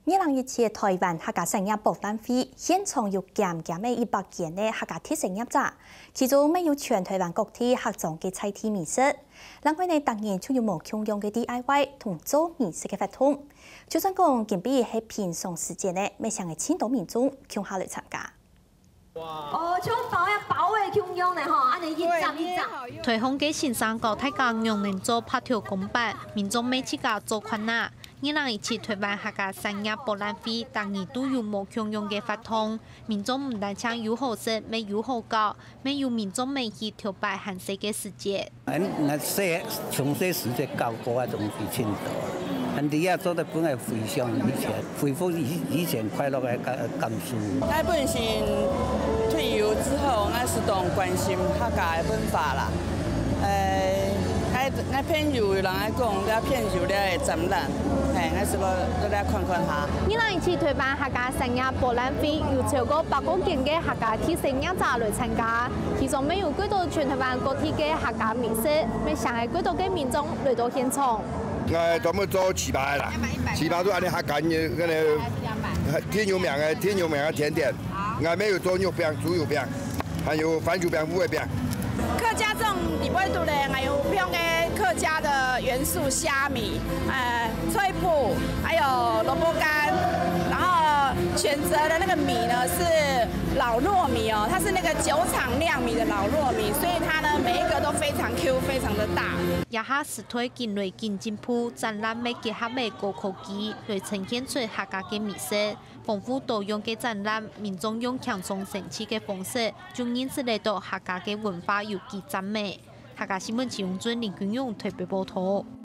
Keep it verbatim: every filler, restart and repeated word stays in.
二零一七臺灣客家產業博覽會現場有撿撿个一百間个客家特色業者，其中乜有全臺灣各地客庄个在地美食。另外呢，逐年就有無共樣个D I Y同做美食个活動。就算講今晡日係平常時節呢，乜成个盡多民眾共下來參加。 哦，像包呀包个共樣呢吼，恁樣一隻一隻。臺風个先生教大家仰能做白頭公粄，民眾乜自家做看啊。二零一七臺灣客家產業博覽會，逐年都有無共樣个活動，民眾毋單淨有好食，乜有好搞，乜有民眾乜去頭擺還細个時節。 𠊎𠊎細從細時節搞過啊，東西盡多。恁樣啊，做得分𠊎回想以前，恢復以以前快樂个感感受。𠊎本身退休之後，𠊎係當關心客家个文化啦。誒，𠊎𠊎朋友有人來講，這片有這个展覽，嘿，𠊎係欲落來看看哈。二零一七臺灣客家產業博覽會有超過百個間个客家特色業者來參加，其中乜有幾多全臺灣各地个客家美食，乜成个幾多个民眾來到現場。𠊎專門做粢粑个啦，粢粑都恁樣客家个，該个挺有名个，挺有名个甜點。𠊎乜有做肉餅、豬肉餅，還有番薯餅、烏龜餅。客家粽裡背肚呢，還有用个客家的元素蝦米，呃，脆脯，還有蘿蔔乾，然後選擇的那個米呢是老糯米哦，它是那個酒廠釀米的老糯米，所以它呢每一個都非常Q，非常的大。這下時代緊來緊進步，展覽乜結合了高科技，來呈現出客家个美食。豐富多樣个展覽，民眾用輕鬆生趣个方式，就認識得到客家个文化有幾讚美。客家新聞徐永俊、林君勇台北報導。